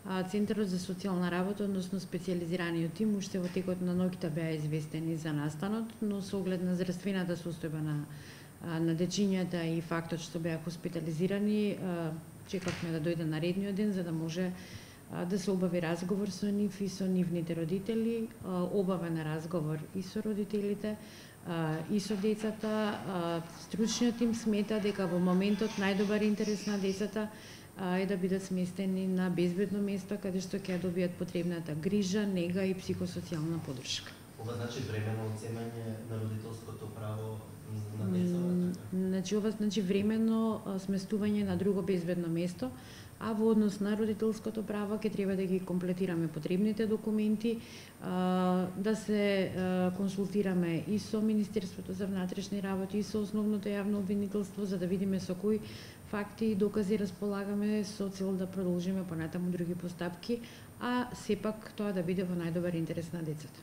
Центарот за социјална работа, односно специјализираниот тим, уште во текот на ноќта беа известени за настанот, но со оглед на здравствената состојба на дечињата и фактот што беа хоспитализирани, чекавме да дојде наредниот ден за да може да се обави разговор со нив и со нивните родители. Обавен разговор и со родителите, и со децата. Стручниот тим смета дека во моментот најдобар интерес на децата е да бидат сместени на безбедно место каде што ќе добијат потребната грижа, нега и психосоцијална поддршка. Ова значи временно оцемање на родителското право на деца? Ова значи временно сместување на друго безбедно место, а во однос на родителското право ќе треба да ги комплетираме потребните документи, да се консултираме и со Министерството за внатрешни работи и со Основното јавно обвинителство за да видиме со кои факти и докази располагаме со цел да продолжиме понатаму други постапки, а сепак тоа да биде во најдобар интерес на децата.